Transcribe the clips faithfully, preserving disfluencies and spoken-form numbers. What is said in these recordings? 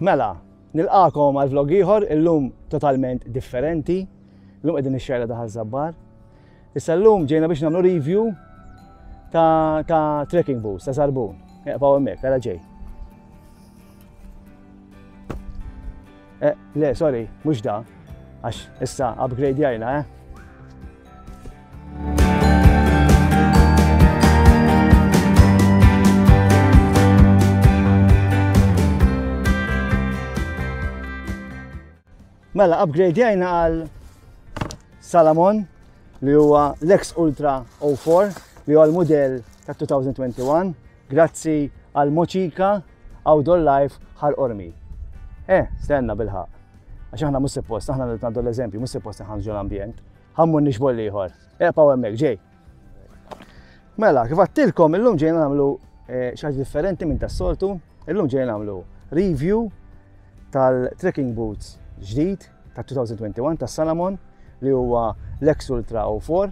Mela, nilqakom għal vlog ieħor illum totalment differenti. Illum qegħdin ix-xejra ta' Ħaż-Żabbar. Issa llum ġejna biex nagħmlu review ta', ta trekking boots, ta' żarbun. Eqgħu hemmhekk, ara ġej. Eh, le, sorry, mhux da, għax issa upgrade jajna, eh? Mela, upgrade jajna għal Salomon li huwa l-X Ultra zero four li huwa l-modell ta' two thousand twenty-one grazzi għal Moċika Outdoor Life Ħal Qormi. Eh, stenna bil-ħaq. Għax aħna mhux suppost, aħna nagħtu l-eżempju, mhux suppost nħanġu l-ambjent. Ħammur nixbol ieħor. Eqgħu hemmhekk ġej. Mela, kif għattilkom illum ġejna nagħmlu, eh, xi ħaġa differenti minn tas-soltu. Illum ġejna nagħmlu review tal-trekking boots ġdid ta' two thousand twenty-one ta' Salomon li huwa l-X Ultra zero four.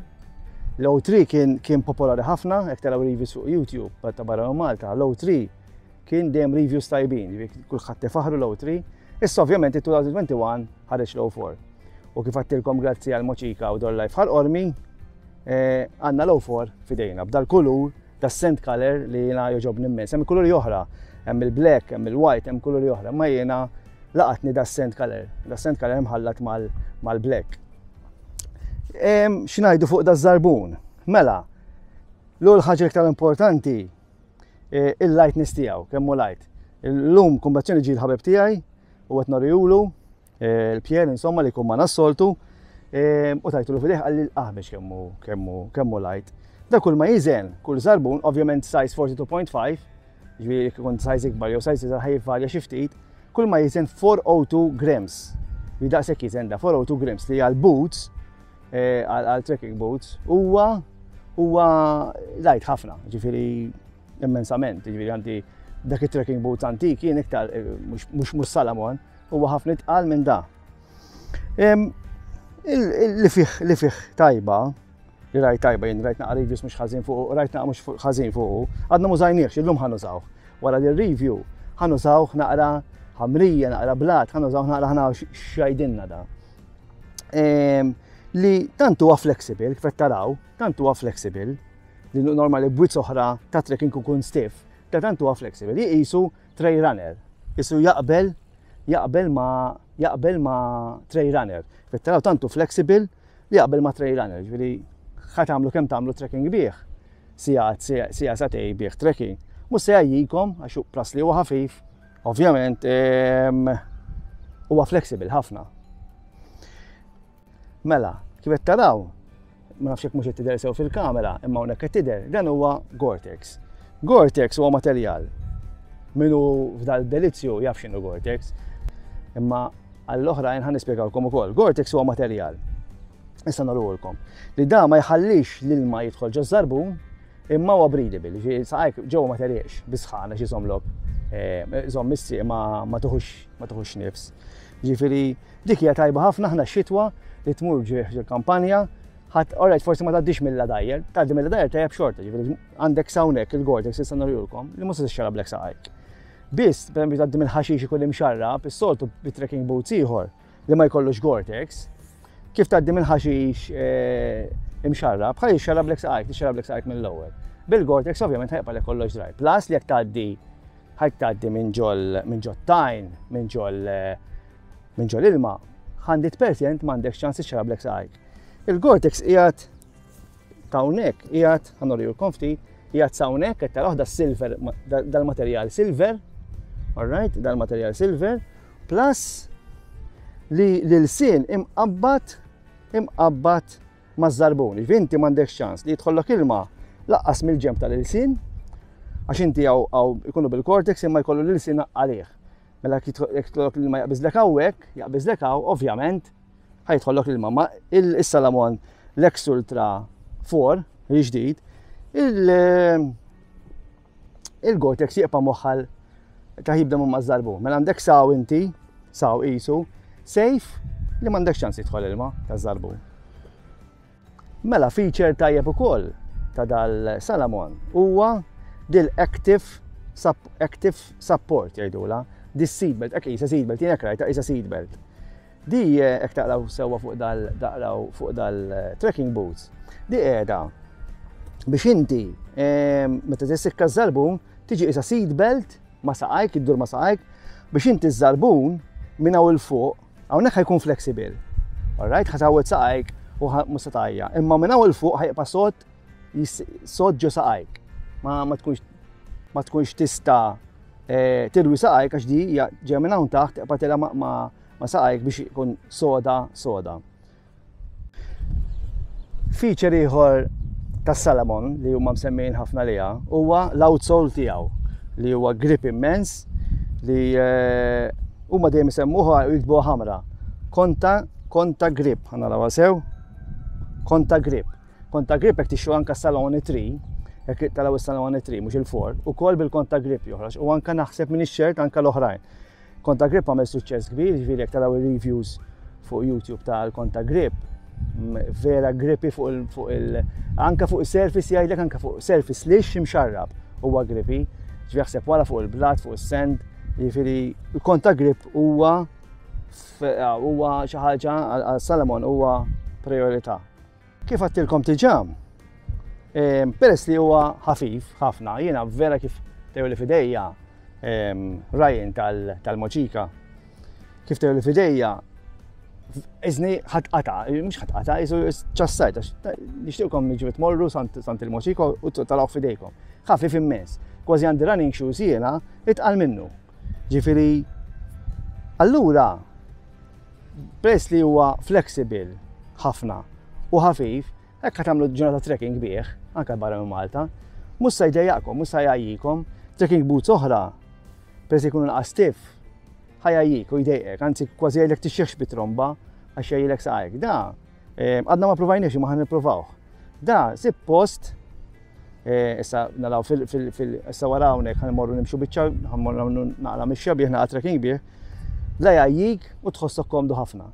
L-O three kien, kien popolari ħafna, jekk taraw reviews fuq YouTube ta' barra minn Malta, l-O three kien dejjem reviews tajbin, jiġifieri kulħadd tifaħru l-O three. Issa ovvjament it-two thousand twenty-one ħareġ l-O four. U kif għattilkom grazzi għal Moċika u Outdoor Life Ħal Qormi, eh, għandna l-O four f'idejna b'dal kulur ta' sand color li jiena jogħġobni immens. Hemm kuluri oħra, hemm il-black, hemm il-white, hemm kuluri oħra, ma jiena laqatni da sand color, da sand color imħallat mal-, mal-black. Em, x'ngħidu fuq da żarbun? Mela, l-ewwel ħaġa iktar importanti, eh, il-lightness tiegħu, kemm hu light. Illum kumbazzjoni ġie l-ħabib tiegħi u qed norihulu, eh, l-Pier insomma li jkun ma' nas-soltu, em, u tajtulu f'idejh qalli l-qaħbex kemm hu, kemm hu, kemm hu light. Da kull ma jiżen, kull żarbun, ovvjament size forty-two point five, ġifieri jekk ikun size ikbar jew size iżgħar ħajvarja xi ftit, kull ma jiżen four oh two grams. Li daqshekk jiżen da four oh two grams li għal boots, eh, għal, għal trekking boots, huwa, huwa light ħafna, ġifieri immensament, ġifieri għandi dak it-trekking boots antik jien iktar, eh, mhux, mhux, mhux Salomon, huwa ħafna itqal minn da. Em, il-, il-, li fih, li fih tajba, li rajt tajba, jien rajt naqra reviews mhux ħażin fuq, rajt naqra mhux ħażin fuq, għadna mużajniex, illum ħanużawh. Wara li review ħanużawh naqra ħamrija, naqra blat, ħanużawh naqra ħna x'jgħidilna da. Em, li tant huwa flexible, kif qed taraw, tant huwa flexible, li normali bwiet oħra ta' trekking ikun stiff, ta' tant huwa flexible, li qisu trail runner, qisu jaqbel, jaqbel ma, jaqbel ma trail runner. Kif qed taraw tant hu flexible li jaqbel ma trail runner, ġifieri ħa tagħmlu kemm tagħmlu trekking bih, sigħat, sigħat, sagħtej bih trekking. Mhux se jgħajjikom għax hu plas li huwa ħafif, ovvjament, em, huwa flexible ħafna. Mela, kif qed taraw, ma nafx jekk mhux qed tidher sew fil-kamera, imma hawnhekk qed tidher, dan huwa Gore-Tex. Gore-Tex huwa materjal. Minu f'dal delizzju jaf x'inhu Gore-Tex, imma għall-oħrajn ħa nispjegawlkom ukoll. Gore-Tex huwa materjal. Issa nurulkom li da ma jħallix l-ilma jidħol ġo żarbun, imma huwa breathable, ġifieri saqajk ġewwa ma teriex bisħana xi żomlok, eh, żomm is-sieq ma, ma tuħux, ma tuħux nifs. Ġifieri dik hija tajba ħafna aħna x-xitwa li tmur ġo kampanja, ħadd, all right, forsi ma tgħaddix mill-ladajjer, tgħaddi mill-ladajjer tajjeb xorta, ġifieri għandek s'hawnhekk il-Gore-Tex issa nurulkom li mhux se tixxarrablek saqajk. Biss, per eżempju, tgħaddi mill-ħaxix ikun imxarrab, is-soltu bi trekking boots ieħor li ma jkollux Gore-Tex, kif tgħaddi mill-ħaxix, eh, imxarrab, ħaj jixxarrablek saqajk, tixxarrablek saqajk mill-ewwel. Bil-Gore-Tex ovvjament ħajqbalek kollox dry. Plus li jekk tgħaddi, ħajk tgħaddi minn ġol, minn ġol tajn, minn ġol, eh, minn ġol ilma, hundred percent m'għandekx ċans tixxarrablek saqajk. Il-Gore-Tex qiegħed ta' hawnhekk, qiegħed, ħa nurihulkom ftit, qiegħed sa hawnhekk, qed taraw da silver, dal-materjal silver, all right, dal-materjal silver, plus li l-sin imqabbad, imqabbad maż-żarbun. Ġifieri inti m'għandekx ċans li jidħollok ilma laqqas mill-ġemb tal-ilsien, għax inti hawn, hawn ikunu bil-Gore-Tex imma jkollu l-ilsien għalih. Mela jekk jidħol-, jekk jidħollok l-ilma jaqbiżlek hawnhekk, jaqbiżlek hawn, ovvjament ħajtħollok l-ilma. Ma il-, is-Salomon l-X Ultra four, il-ġdid, il-, il-Gore-Tex jibqa' moħħal ta' jibda minn maż-żarbun. Mela għandek saw inti, saw qisu, safe li m'għandekx ċans jidħol ilma taż-żarbun. Mela feature tajjeb ukoll ta' dal-Salomon huwa dil-active sup-, active support jgħidula. Dis seatbelt, hekk qisha seatbelt, jien hekk rajtha qisha seatbelt. Di hekk taqraw sewwa fuq dal taqraw fuq dal-trekking boots. Di qiegħda biex inti meta tissikka ż-żarbun tiġi qisha seatbelt ma' saqajk, iddur ma' saqajk, biex inti ż-żarbun minn hawn 'il fuq, hawnhekk ħa jkun flexible. Alright, ħa tgħawweġ saqajk u mhux se tgħajja. Imma minn hawn 'il fuq ħa jibqa' sod sod ġo saqajk. Ma, ma tkunx ma tkunx tista' tilwi saqajk għax di hija ġejja minn hawn taħt tibqa' tilha ma, ma, ma saqajk biex ikun soda soda. Feature ieħor tas-Salomon li huma msemmijin ħafna liha huwa l-outsole tiegħu li huwa grip immens li huma dejjem isemmuha u jiktbuha ħamra. Conta, Contagrip, ħa narawha sew. Contagrip. Contagrip jekk tixtru anka Salomon three, jekk taraw is-Salomon three mhux il-four, ukoll bil-Contagrip joħroġ u anka naħseb minn ix-xert anka l-oħrajn. Contagrip għamel suċċess kbir, jiġifieri jekk taraw ir-reviews fuq YouTube tal-Contagrip, vera grippy fuq il, fuq il, anka fuq il-surface jgħidlek anka fuq surface lixx imxarrab huwa grippy. Ġifieri jaħseb wara fuq il-blat, fuq is-sand, jiġifieri il-Contagrip huwa huwa xi ħaġa għal Salomon huwa priorità. Kif għedtilkom diġà, peress li huwa ħafif ħafna, jiena vera kif tew li fidejja Ryan tal-Mochika, kif tew li fidejja iżni ħatqata, mhux ħatqata, iżu ċassajt, għax nixtieqkom jiġu tmorru sant il-Mochika u taraw fidejkom. Ħafif immens, kważi għandi running shoes jiena itqal minnu. Ġifieri, allura, peress li huwa flexible ħafna u ħafif, hekk ħa tagħmlu ġurnata trekking bih, anke barra minn Malta, mhux se jdejjaqkom, mhux se jgħajjikom. Trekking boots oħra, peress li jkunu naqas stiff, ħa jgħajjik u jdejqek, anzi kważi jgħidlek tixxieħx bit-tromba għax jgħajjilek saqajk. Da, għadna ma provajniex imma ħa nippruvawh. Da, sib post, issa naraw fil, fil, fil, issa wara hawnhekk ħa nmorru nimxu biċċa, ħa nmorru naqra mixja bih, naqra trekking bih, la jgħajjik u tħossok komdu ħafna.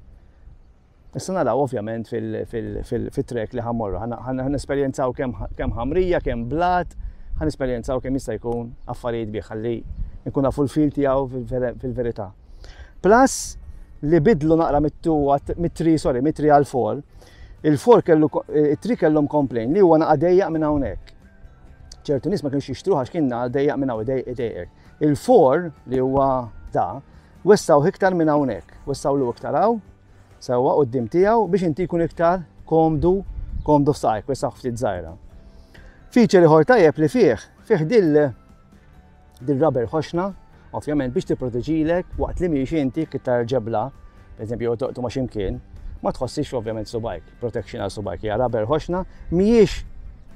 Issa naraw ovvjament fil-trek li ħa mmorru, ħa nesperjenzaw kemm ħamrija, kemm blat, ħa nesperjenzaw kemm jista' jkun affarijiet bih ħalli nkun nafu l-fil tiegħu fil-verità. Plus li bidlu naqra mit-three, sorry, mit-three għal four, il-four kellu, it-three kellhom complain li huwa naqa' dejjaq minn hawnhekk. Ċertu nies ma kienux jixtruh għax kien naqa' dejjaq minn hawn idejqek. Il-four li huwa da, wessgħuh iktar minn hawnhekk, wessgħulu iktar hawn, sewwa quddiem tiegħu biex inti jkun iktar komdu, komdu f'saqajk, wessgħuh ftit żgħira. Feature ieħor tajjeb li fih, fih dil dil rubber ħoxna, ovvjament biex tipproteġilek waqt li miexi inti iktar ġebla, per eżempju jew toqtu ma' x'imkien, ma tħossix ovvjament subajk, protection għal subajk, hija rubber ħoxna, mhijiex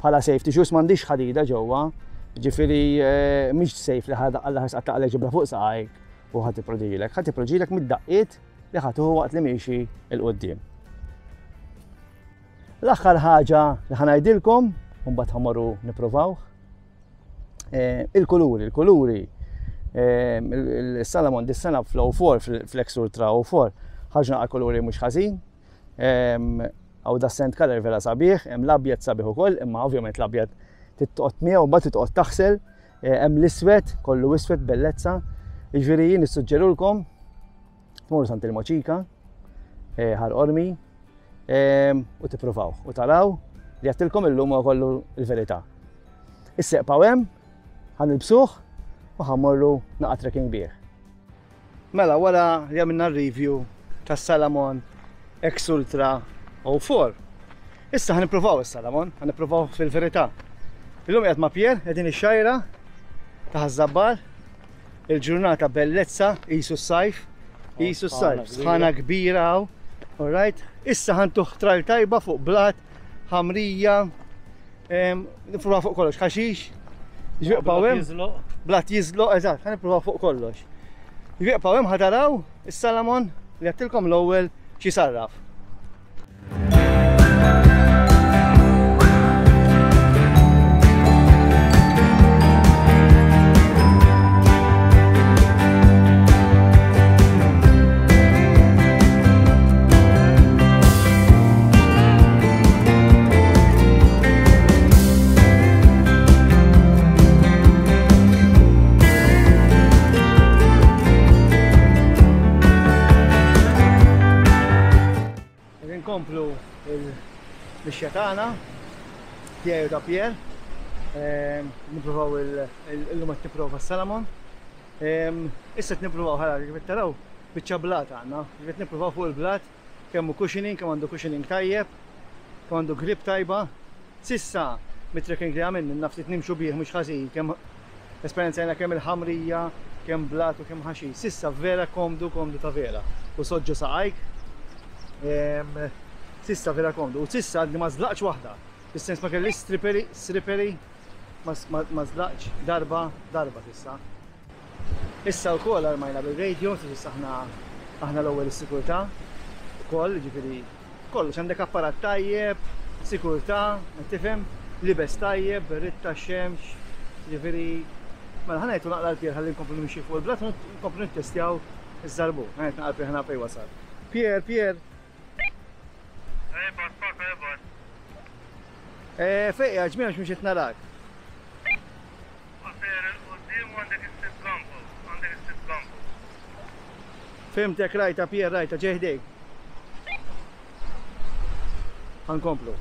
bħala safety shoes, m'għandix ħadida ġewwa, ġifieri mhix safe li ħa Alla ħares qatt ġebla fuq saqajk u ħa tipproteġilek, ħa tipproteġilek mid-daqqiet li ħa tuħu waqt li miexi 'l quddiem. L-aħħar ħaġa li ħa ngħidilkom, u mbagħad ħa mmorru nippruvawh, il-kuluri, il-kuluri, il-Salomon dis-sena fl-O four, fl-X Ultra O four, ħarġu naqra kuluri mhux ħażin. Hawn da sand color vera sabiħ, hemm l-abjad sabiħ ukoll, imma ovvjament l-abjad titqgħod miegħu mbagħad titqgħod taħsel, hemm l-iswed, kollu iswed bellezza. Jiġifieri jien nissuġġerulkom tmorru sant il-Mochika, Ħal Qormi, u tippruvaw u taraw li għedtilkom illum huwa kollu l-verità. Issa eqgħu hemm, ħa nilbsuh u ħa mmorru naqa' trekking bih. Mela wara li għamilna review tas-Salomon X Ultra O four, issa ħa nippruvaw is-Salomon, ħa nippruvaw fil-verità. Illum qiegħed ma' Pier, qegħdin ix-xajra ta' Ħaż-Żabbar, il-ġurnata bellezza, qisu s-sajf, qisu s-sajf, sħana kbira hawn, all right? Issa ħa ntuh trial tajba fuq blat, ħamrija, nippruvaw fuq kollox, ħaxix, ġifieri hemm, blat jiżloq, eżatt, ħa nippruvaw fuq kollox. Ġifieri hemm ħa taraw is-Salomon li għedtilkom l-ewwel xi sarraf. Ħankomplu il-mixja tagħna tiegħi u ta' Pier. Nippruvaw illum qed nipprova s-Salomon. Issa qed nippruvaw ħara kif taraw biċċa blat għandna. Qed nippruvaw fuq il-blat kemm hu cushioning, kemm għandu cushioning tajjeb, kemm għandu grip tajba. Sissa mit-trekking li għamilna naf li nimxu bih mhux ħażin, kemm esperjenzajna kemm il-ħamrija, kemm blat u kemm ħaxix. Sissa vera komdu, komdu ta' vera. U soġġu saqajk. Sissa vera komdu. U sissa għadni ma żlaqx waħda. Fis-sens ma kellix slippery, slippery, ma żlaqx darba, darba sissa. Issa wkoll armajna bil-radio, sissa aħna aħna l-ewwel is-sikurtà ukoll, ġifieri kollox għandek apparat tajjeb, sikurtà, tifhem, libes tajjeb, berritta xemx, ġifieri mela ħa ngħidu naqra l-Pier ħalli nkomplu nimxi fuq il-blat u nkomplu nittestjaw iż-żarbun. Ħa ngħid naqra l-Pier ħa fejn wasal. Pier, Pier. Eh, fejn qiegħed ġmiel mhux qed narak. Fimtek rajta Pier, rajta ġej ħdejk. Ħa nkomplu.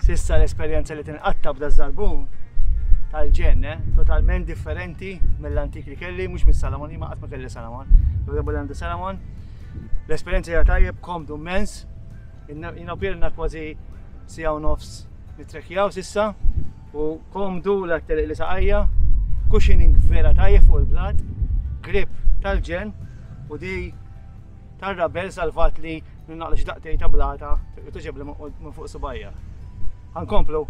Sissa l-esperjenza li tinqatta b'da żarbun tal-ġenn, eh? Totalment differenti mill-antik li kelli, mhux mis-Salomon, ma qatt ma kelli Salomon. L-għandu għandu Salomon. L-esperjenza hija tajjeb, komdu immens. Jiena pirna kważi siegħa u nofs nitrekjaw sissa u komdu l-aktar li saqajja, cushioning vera tajjeb fuq il-blat, grip tal-ġenn u di tar-rabel salvat li naqlax daqtej ta' blata u tuġeb li minn fuq subajja. Ħa nkomplu.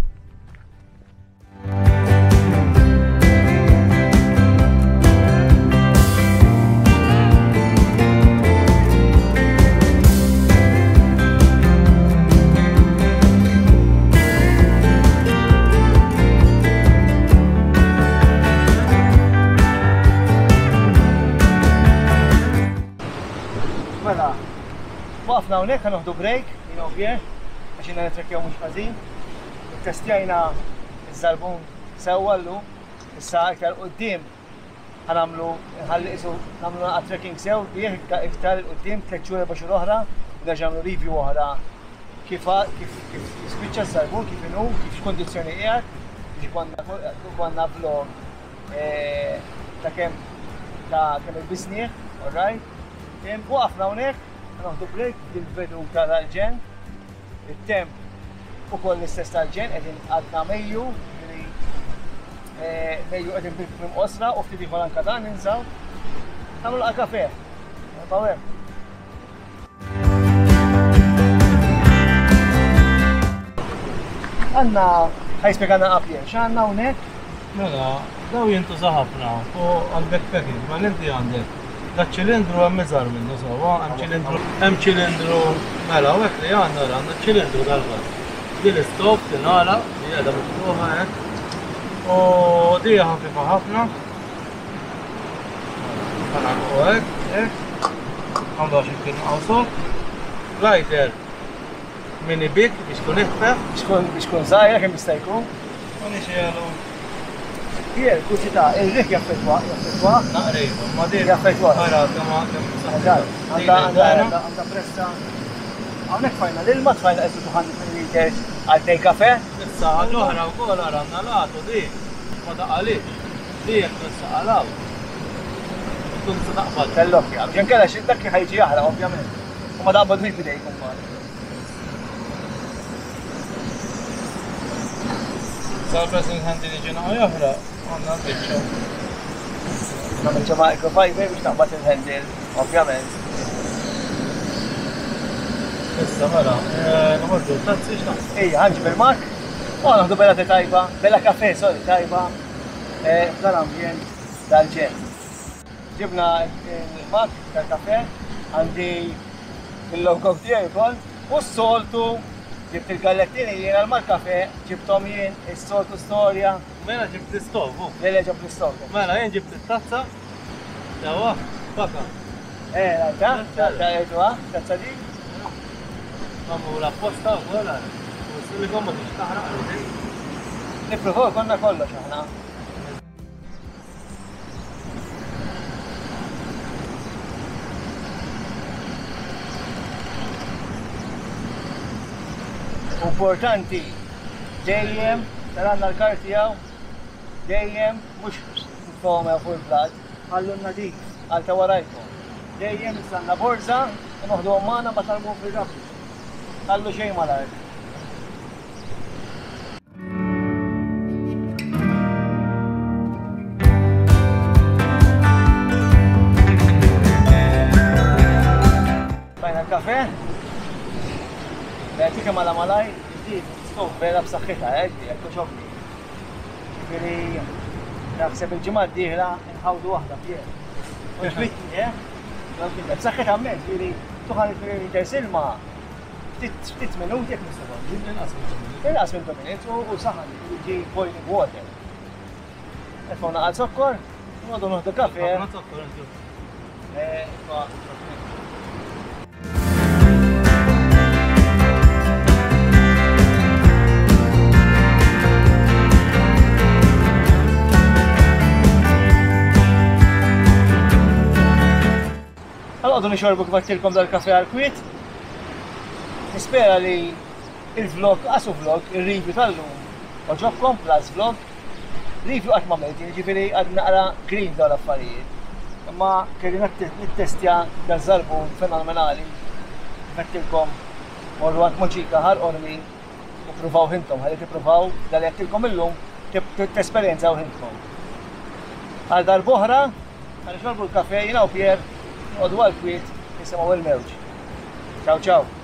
Mela, waqfna hawnhekk ħa noħdu break, jiena u Pier, għax jiena nitrekkjaw mhux ħażin. Testjajna iż-żarbun sewwa llum, issa iktar quddiem ħa nagħmlu nħalli qisu nagħmlu naqa' trekking sew bih iktar 'il quddiem tliet xhur erba' xhur oħra u nerġa' nagħmlu review oħra kif kif kif jispiċċa ż-żarbun, kif inhu, kif x'kundizzjoni qiegħed, biex ikollna vlog ta' kemm ta' kemm ilbisnieh, all right? Waqafna hawnhekk, noħdu break bil-veduta tal-ġenn, it-temp ukoll l-istess tal-ġenn, qegħdin għadna Mejju, Mejju qegħdin bil-kmiem qosra u ftit ieħor anke dan ninżaw. Nagħmlu laqgħa kafe. Nibqgħu hemm. Għandna ħajspjegana Pier, x'għandna hawnhekk? Mela, daw jintuża ħafna u għal-backpacking, ma inti għandek. Da ċilindru hemm iżgħar minnu sewwa, hemm ċilindru, hemm ċilindru, mela hawnhekk li għandna għandna ċilindru dal-gas. Din l-istop tingħalaq li qiegħda miftuħa hekk. U di ħafifa ħafna. Ħanaqgħu hekk, hekk. Għandu għax imkien qawsok. Lighter mini big biex tkun eħfef. Biex tkun żgħira kemm jista' jkun. U nixelu. Pier, kurżità, ir-riħ jaffettwa, jaffettwa. Naqrejba, ma din. Jaffettwa. Ara, kemm kemm Għandha għandha għandha pressa. Hawnhekk tfajna l-ilma, tfajna qisu two hundred milliliters għal tnejn kafe. Issa ħaġa oħra wkoll ara għandna l-għatu di ma taqalix. Di jekk tissaqalaw. Tkun se taqbad. Tellokja, biex inkella xi dak ħajġi jaħraq ovvjament. U ma taqbadux bidejk imbagħad. Sal-pressing handle li ġena joħra, għandna l-biċċa. Nagħmel ġo microfiber biex taqbad il-handle, ovvjament. Issa mela, noħorġu t-tazzi x'naħseb. Ejja, ħanġib il-mak. U naħdu bella te tajba, bella kafe, sorry, tajba, f'dal-ambjent tal-ġenn. Ġibna il-mak tal-kafe, għandi il-logo tiegħi wkoll, u s-soltu ġibt il-gallettini jien għal mal-kafe, ġibthom jien, is-soltu storja. Mela ġibt l-istov, u? Le, le, ġibt l-istov. Mela jien ġibt it-tazza. Dawa, baka. Eh, rajta, ta' tazza di. Magħmula apposta wkoll għal. U s-silikon ma tix taħraq għal. Nippruvaw konna kollox aħna. Importanti, dejjem, taranna l-karti għaw, dejjem, mux nfoma fuq il-blat, ħallu nadif, għal ta' warajkom. Dejjem nistanna borza, u noħdu għammana ma tarmu fil-rabbi. Ħallu xejn mal-art. Bajna l-kafe. Bħetika mala malaj, ġdid, stov vera b'saħħitha, eh, ġdid, toġobni. Ġifieri, naħseb il-ġimgħa d-dieħla nħawdu waħda Pier. Oġbitni, eh? B'saħħitha mmens, ġifieri, tuħan il-liters ilma, ftit minuti jekk nistgħu. Inqas minn two minutes. Inqas minn two minutes u saħan, ġi boiling water. Nitfgħu naqal zokkor, noqogħdu noħdu kafe. Ħafna zokkor inti. Eh, Għal-għodu nixorbu kif għedtilkom dal-kafe għal-kwiet. Nispera li il-vlog, għasu vlog, il-review tal-lum, oġobkom plus vlog. Review qatt ma għamilt, jiġifieri għad naqra green dawn l-affarijiet. Imma kelli nittestja dal-żarbun fenomenali. Għedtilkom morru għand Moċika Ħal Qormi u pruvaw hintom, ħalli tippruvaw dal għedtilkom illum tesperjenzaw hintkom. Għal darb'oħra, ħa nixorbu l-kafe jiena u Pier, noqogħdu għal-kwiet nisimgħu il-mewġ. Ciao ciao.